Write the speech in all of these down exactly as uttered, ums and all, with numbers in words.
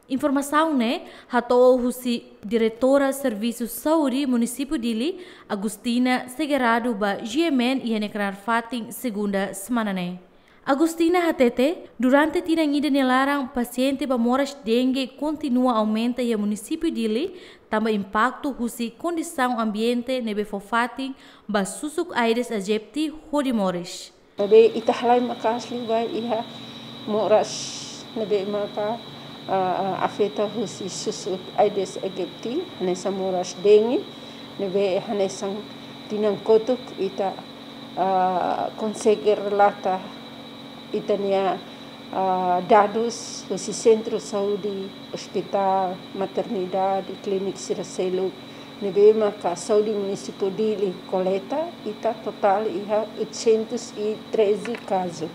Informasaun ne'e hato'o husi Diretora Servisu Saúde Munisípiu Dili, Agustina Segerado, ba G M N iha nia knaar fatin segunda semana ne'e. Agustina hatete, durante tinan ida nia laran pasiente ba moras dengue kontinua aumenta iha Munisípiu Dili, tanba impaktu husi kondisaun ambiente ne'ebé fó fatin ba susuk Aedes aegypti hodi moris. Ne'ebé ita halai maka'as liu ba iha moras ne'ebé maka, ah, afeta husi susuk Aedes aegypti, hanesan moras dengue, ne'ebé hanesan tinan kotuk ita, ah, konsege relata ita-nia, ah, dadus husi sentru saúde, ospitál, maternidade, klínika sira seluk, ne'ebé maka saúde munisípiu Dili koleta, ita totál iha oitocentos e treze kazu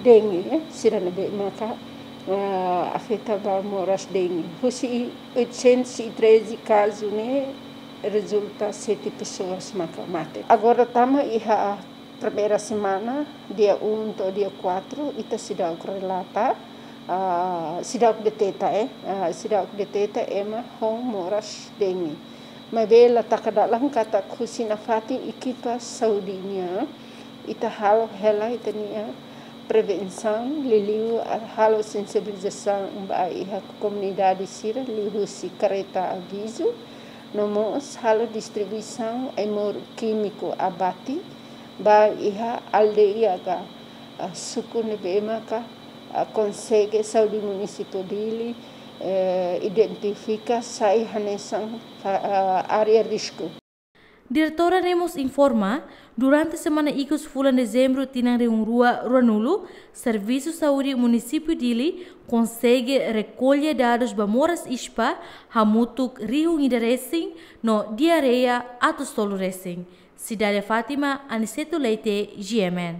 dengue, eh, sira ne'ebé maka, ah, afeta ba moras dengue. Husi oitocentos e treze kazu ne'e rezulta sete pessoas maka mate. Agora tama iha primeira semana, dia um to'o dia quatro, ita seidauk relata, ah, seidauk deteta, eh, ah, seidauk deteta ema ho moras dengue. Maibé la taka dalan katak husi nafatin ekipa saúde nian, ita halo hela ita-nia prevensaun, liuliu, ah, halo sensibilizasaun ba iha komunidade sira liuhusi kareta avizu, no mós halo distribuisaun ai-moruk kímiku abate ba iha aldeia ka, ah, suku ne'ebé maka, ah, konsege saúde munisípiu Dili, eh, identifika sai hanesan, ah, área risku. Diretora ne'e mós informa, durante semana ikus fulan Dezembru tinan rihun rua ruanulu, Servisu Saúde Munisípiu Dili konsege rekolla dadus ba moras ispa hamutuk rihun ida resin no diarreia atus tolu resin. Cidade Fátima, Aniceto Leite, G M N.